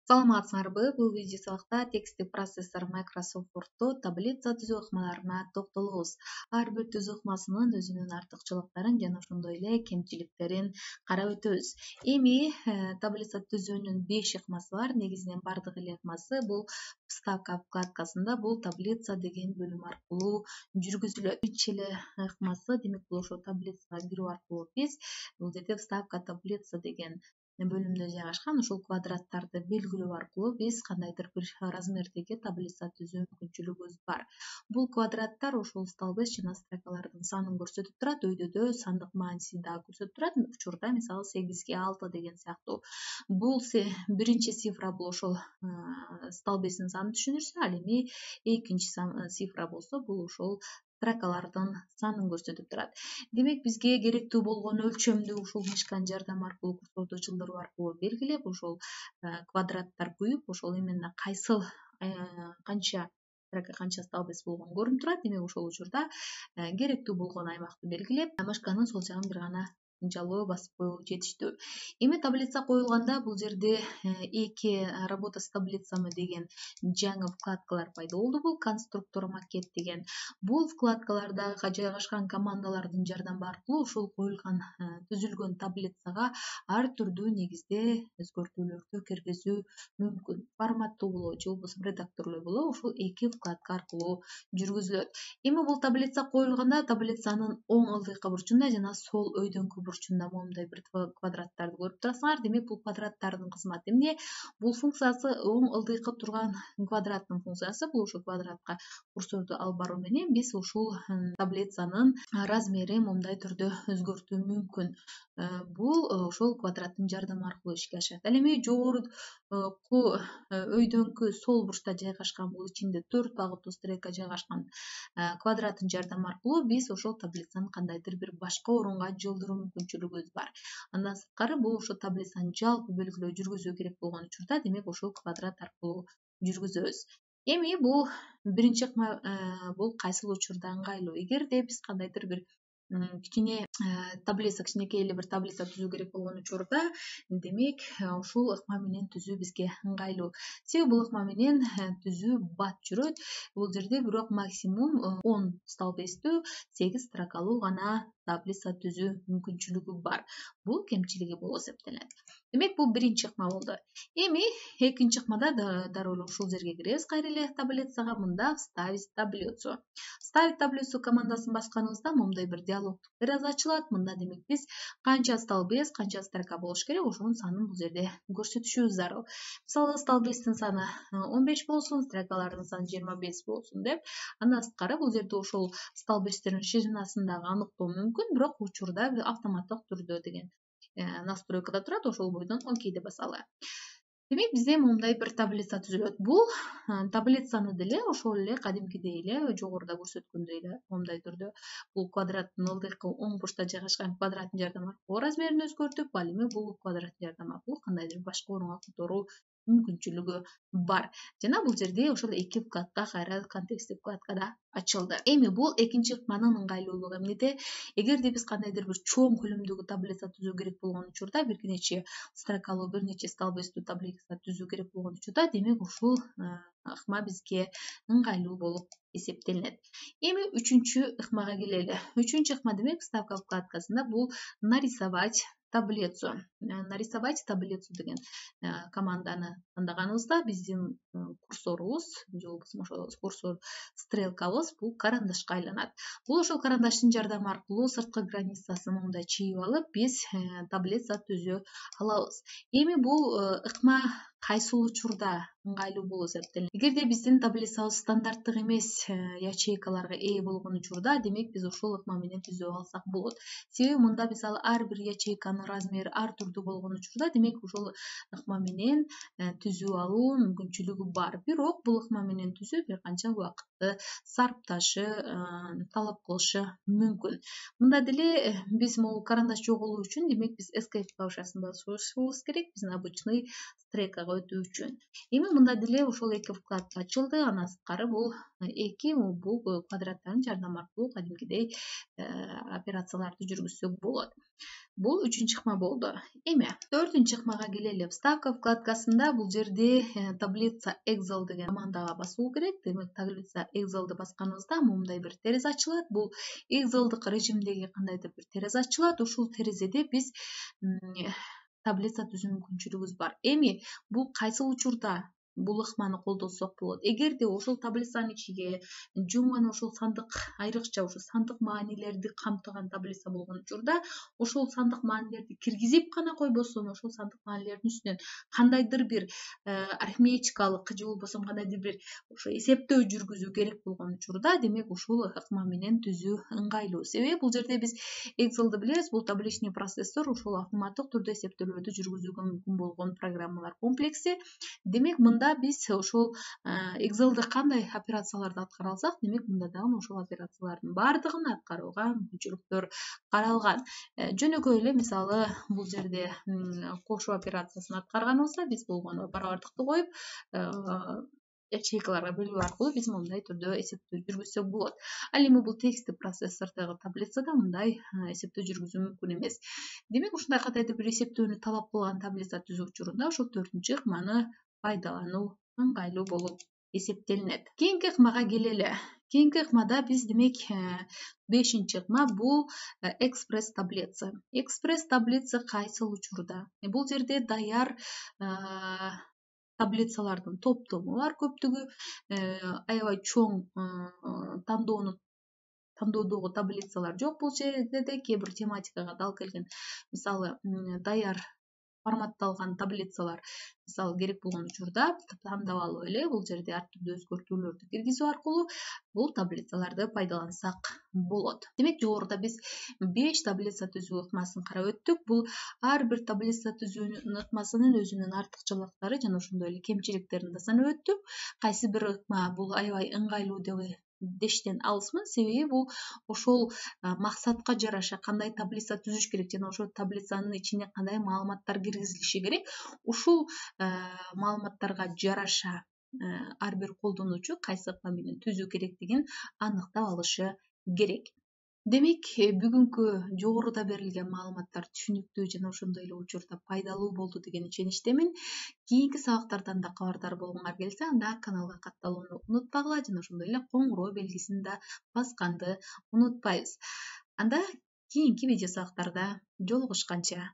Саламатсыңарбы? Бул видео сабакта тексттик процессор Microsoft Word'то таблица түзүү ыкмаларына токтолобуз. Ар бир түзүү ыкмасынын өзүнүн артыкчылыктарын жана ошондой эле кемчиликтерин карап өтөбүз. Эми таблица түзүүнүн 5 ыкмасы бар. Негизинен бардык эле ыкмасы бул вставка вкладкасында бул таблица деген бөлүм аркылуу жүргүзүлөт. Биринчи эле ыкмасы, демек бул ошо таблицага кирүү аркылуу биз бул жерде вставка таблица деген бөлүмдө жайгашкан ушул квадраттарды белгилөө аркылуу биз кандайдыр бир размердеги таблица түзүү мүмкүнчүлүгүбүз бар. Бул квадраттар ошол столбец жана строкалардын санын көрсөтүп турат. Өйдөдө сандык мааниси дагы көрсөтүп турат. Учурда мисалы 8ге 6 деген сыяктуу. Бул биринчи цифра бул ошол столбецтин санын түшүнүрсө, ал эми экинчи цифра болсо бул ошол строкалардын санын көрсөтүп турат. Демек бизге керектүү болгон өлчөмдү ушул мышканын жардамы аркылуу курсоодо жылдыруу аркылуу белгилеп, ошол квадраттар куюп, ошол именно кайсыл канча столбец болгону көрүнүп турат. Демек ошол учурда керектүү болгон аймакты белгилеп, мышканын сол жагын бир гана жалоо басып коюу жетиштүү. Эми таблица коюлганда бул жерде эки работа с таблицами деген жаңы вкладкалар пайда болду. Бул конструктор макет деген. Бул вкладкаларда жайгашкан командалардын жардамы аркылуу ушул коюлган түзүлгөн таблицага ар түрдүү негизде өзгөртүүлөрдү киргизүү мүмкүн. Форматтуу болобу же болбосо редакторлоо болобу ушул эки вкладка аркылуу жүргүзүлөт. Эми бул таблица коюлганда таблицанын оң ылдыйкы бурчунда жана сол өйдөңкү бурчунда моундай бир квадраттарды көрүп турасыңар. Демек бул квадраттардын кызматы эмне? Бул функциясы оң ылдыйкы турган квадраттын функциясы бул ошол квадратка курсорду алып баруу менен биз ушул таблицанын размерин моундай түрдө өзгөртүү мүмкүн. Бул ошол квадраттын жардамы аркылуу ишке ашат. Ал эми жогорку өйдөңкү сол бурчта жайгашкан, бул ичинде 4 багыттуу стрелка жайгашкан квадраттын жардамы аркылуу биз ошол таблицаны кандайдыр бир башка орунга жылдыруу мүмкүнчүлүгүбүз бар. Андан сырткары бул ошо таблицаны жалпы белгилөө жүргүзүү керек болгон учурда, демек ошол квадрат аркылуу жүргүзөбүз. Эми бул биринчи ыкма бул кайсыл учурда ыңгайлуу? Эгерде биз кандайдыр бир кичине таблица, кичинекей эле бир таблица түзүү керек болгон учурда, демек ушул ыкма менен түзүү бизге ыңгайлуу. Себеби бул ыкма менен түзүү бат жүрөт. Бул жерде бирок максимум 10 столбецтүү 8 строкалуу гана таблица түзүү мүмкүнчүлүгү бар. Бул кемчилиги болуп эсептелет. Демек бул биринчи ыкма болду. Эми экинчи ыкмада дароо эле ушул жерге киребиз. Кайра эле таблицага мында вставить таблицу. Вставить таблицу командасын басканыбызда моундай бир диалогдук терезе ачылат. Мында демек биз канча столбец, канча строка болуш керек, ошонун санын бул жерде көрсөтүшүбүз зарыл. Мисалы столбецтин саны 15 болсун, строкалардын саны 25 болсун деп. Андан сырткары бул жерде ошол столбецтердин ширинасында аныктоо мүмкүн, бирок учурда автоматтык түрдө деген настройкада турат, ошол бойдон окей деп басалы. Демек бизде моундай бир таблица түзүлөт. Бул таблицаны деле ошол эле кадимкидей эле жогоруда көрсөткөндөй эле моундай түрдө бул квадраттын ылдыйкы оң бурчта жайгашкан квадраттын жардамы аркылуу размерин өзгөртүп, ал эми бул квадраттын жардамы аркылуу кандайдыр башка орунга которуу мүмкүнчүлүгү бар. Жана бул жерде ошол эки вкладка кайра контексттик вкладкада ачылды. Эми бул экинчи ыкманын ыңгайлуулугу эмнеде? Эгерде биз кандайдыр бир чоң көлөмдөгү таблица түзүү керек болгон учурда, бир нече строкалуу, бир нече столбецтүү таблица түзүү керек болгон учурда, демек ушул ыкма бизге ыңгайлуу болуп эсептелинет. Эми үчүнчү ыкмага келели. Үчүнчү ыкма демек вставка вкладкасында бул нарисовать таблицу. Нарисовать таблицу деген команданы тандаганыбызда биздин курсорубуз же болбосо ошол курсор стрелкабыз бул карандашка айланат. Бул ошол карандаштын жардамы аркылуу сырткы границасын мындай чийип алып, биз таблица түзө алабыз. Эми бул ыкма кайсыл учурда ыңгайлуу болуп эсептелет? Эгерде биздин таблицабыз стандарттык эмес ячейкаларга ээ болгон учурда, демек биз ушул ыкма менен түзүп алсак болот. Себеби мында мисалы ар бир ячейканын размери ар түрдүү болгон учурда, демек ушул ыкма менен түзүү алуу мүмкүнчүлүгү бар. Бирок бул ыкма менен түзүү бир канча убакытты сарпташы, талап кылышы мүмкүн. Мында деле биз могул карандаш жоголуу үчүн, демек биз escape клавишасын басышыбыз керек, биздин обычный стрелкага өтүү үчүн. Эми мында деле ошол 2 вкладка ачылды. Андан сырткары бул 2 бул квадраттардын жардамы аркылуу кадимкидей операцияларды жүргүзсөк болот. Бул 3-чү ыкма болду. Эми 4-чү ыкмага келели. Вставка вкладкасында бул жерде таблица Excel деген командага басуу керек. Демек таблица Excel'ди басканыбызда мындай бир терезе ачылат. Бул Excel'дык режимдеги кандайдыр бир терезе ачылат. Ушул терезеде биз таблица түзүү мүмкүнчүлүгүбүз бар. Эми бул кайсы учурда бул ыкманы колдонсок болот? Эгерде ошол таблицанын ичиге жумган ошол сандык, айрыкча ошол сандык маанилерди камтыган таблица болгон учурда, ошол сандык маанилерди киргизип гана койбосун, ошол сандык маанилердин үстүнөн кандайдыр бир арифметикалык же болбосо кандайдыр бир ошо эсептөө жүргүзүү керек болгон учурда, демек ушул ыкма менен түзүү ыңгайлуу. Себеби бул жерде биз Excel'ди билебиз, бул табличный процессор, ушул автоматтык түрдө эсептөөлөрдү жүргүзүүгө мүмкүн болгон программалар комплекси. Демек мында биз ошол Excel'де кандай операцияларды аткара алсак, демек мында дагы ошол операциялардын баардыгын аткарууга мүмкүнчүлүктөр каралган. Жөнөкөй эле мисалы бул жерде кошуу операциясын аткарганыбызда биз болгону барабардыкты коюп ячейкаларга бөлүү аркылуу биз мындай түрдө эсептөө жүргүзсөк болот. Ал эми бул текстти процессордогу таблицада мындай эсептөө жүргүзүү мүмкүн эмес. Демек ушундай кандайдыр бир эсептөөнү талап кылган таблица түзүү учурунда ошол 4-чү ыкманы пайдалануу ыңгайлуу болуп эсептелинет. Кийинки ыкмага келели. Кийинки ыкмада биз демек 5-чи ыкма бул экспресс таблица. Экспресс таблица кайсыл учурда? Бул жерде даяр таблицалардын топтому бар, көптүгү аябай чоң тандоодогу таблицалар жок бул жерде. Кээ бир тематикага дал келген, мисалы даяр форматталган таблицалар мисалы керек болгон учурда тандап алып эле бул жерде ар түрдүү өзгөртүүлөрдү киргизүү аркылуу бул таблицаларды пайдалансак болот. Демек жогоруда биз 5 таблица түзүү ыкмасын карап өттүк. Бул ар бир таблица түзүүнүн ыкмасынын өзүнүн артыкчылыктары жана ошондой эле кемчиликтерин да санап өттүк. Кайсы бир ыкма бул аябай ыңгайлуу дештен алысмын, себеби бул ошол максатка жараша кандай таблица түзүш керек жана ошол таблицанын ичине кандай маалыматтар киргизилиши керек, ушул маалыматтарга жараша ар бир колдонуучу кайсы ыкма менен түзүү керектигин аныктап алышы керек. Демек бүгүнкү жогоруда берилген маалыматтар түшүнүктүү жана ошондой эле учурда пайдалуу болду деген ишеничтемин. Кийинки сабактардан да кабардар болгуңар келсе, анда каналга катталууну унутпагыла жана ошондой эле коңгуроо белгисин да басканды унутпайбыз. Анда кийинки видео сабактарда жолугушканча